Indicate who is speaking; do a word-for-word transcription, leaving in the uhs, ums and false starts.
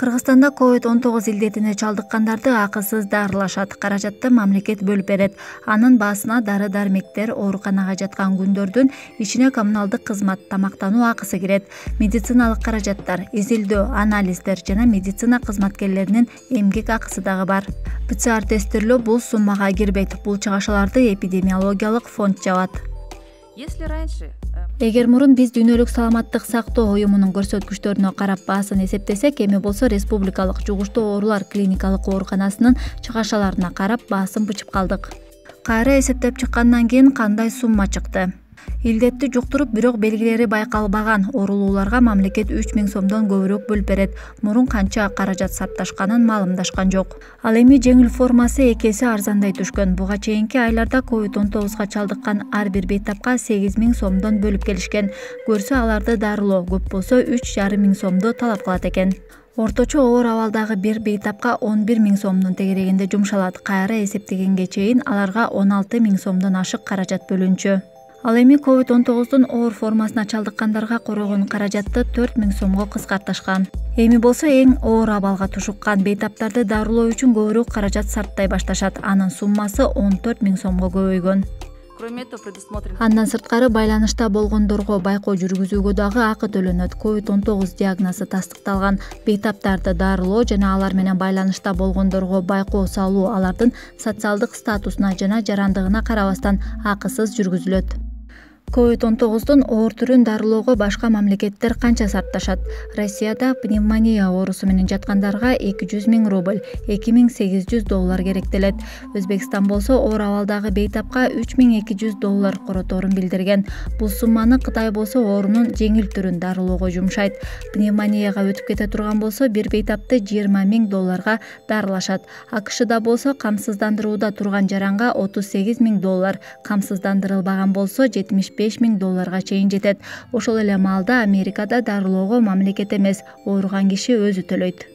Speaker 1: Кыргызстанда ковид он тогуз илдетине чалдыккандарды акысыз дарылашат. Каражатты мамлекет бөлүп берет. Анын баасына дары-дармектер, ооруканага жаткан күндөрдүн ичине коммуналдык кызмат, тамактануу акысы кирет. Медициналык каражаттар, изилдөө, анализдер жана медицина кызматкерлеринин эмгек акысы дагы бар. ПЦР тестирлөө бул суммага кирбейт. Бул чыгашаларды эпидемиологиялык фонд жабат.
Speaker 2: Если раньше
Speaker 1: Эгер мурун биз дүйнөлүк саламаттык сактоо уюмунун көрсөткүчтөрүнө карап баасын эсептесек, эми болсо республикалык жугуштуу оорулар клиникалык ооруканасынын чыгашаларына карап баасын бычып калдык. Кайра эсептеп чыккандан кийин кандай сумма чыкты? Илдетти жуктуруп, бирок белгилери байкалбаган оорулууларга мамлекет үч миң сомдон көбүрөөк бөлүп берет. Мурун канча каражат сарпташканын маалымдашкан жок. Ал эми жеңил формасы эки эсе арзандай түшкөн. Буга чейинки айларда ковид он тогузга чалдыккан ар бир бейтапка сегиз миң сомдон бөлүп келишкен. Көрсө аларды дарылоо көп болсо үч жарым миң сомду талап кылат экен. Орточо оор абалдагы бир бейтапка он бир миң сомдун тегерегинде жумшалат. Кайра эсептегенге чейин аларга он алты миң сомдон ашык каражат бөлүнчү. Ал эми ковид он тогуздун оор формасына чалдыккандарга корогон каражатты төрт миң сомго кыскартышкан. Эми болсо эң оор абалга тушуккан бейтаптарды дарылоо үчүн көбүрөөк каражат сарттай башташат. Анын суммасы он төрт миң сомго көбөйгөн.
Speaker 2: кроме этого предусмотрено
Speaker 1: Андан сырткары байланышта болгондорго байкоо жүргүзүүгө дагы акы төлөнөт. ковид он тогуз диагнозу тастыкталган бейтаптарды дарылоо жана алар менен байланышта болгондорго байкоо салуу алардын социалдык статусуна жана жарандыгына карабастан акысыз жүргүзүлөт. ковид он тогуздун оор түрүн дарылоого башка мамлекеттер канча сарпташат? Россияда пневмония оорусу менен жаткандарга эки жүз миң рубль, эки миң сегиз жүз доллар керектелет. Өзбекстан болсо оор абалдагы бейтапка үч миң эки жүз доллар короторун билдирген. Бул сумманы Кытай болсо оорунун жеңил түрүн дарылоого жумшайт. Пневмонияга өтүп кете турган болсо бир бейтапты жыйырма миң долларга дарылашат. АКШда болсо камсыздандырууда турган жаранга отуз сегиз миң доллар, камсыздандырылбаган болсо жетимиш беш миң долларга чейин жетет. Ошол эле маалда Америкада дарылоого мамлекет эмес, ооруган киши өзү төлөйт.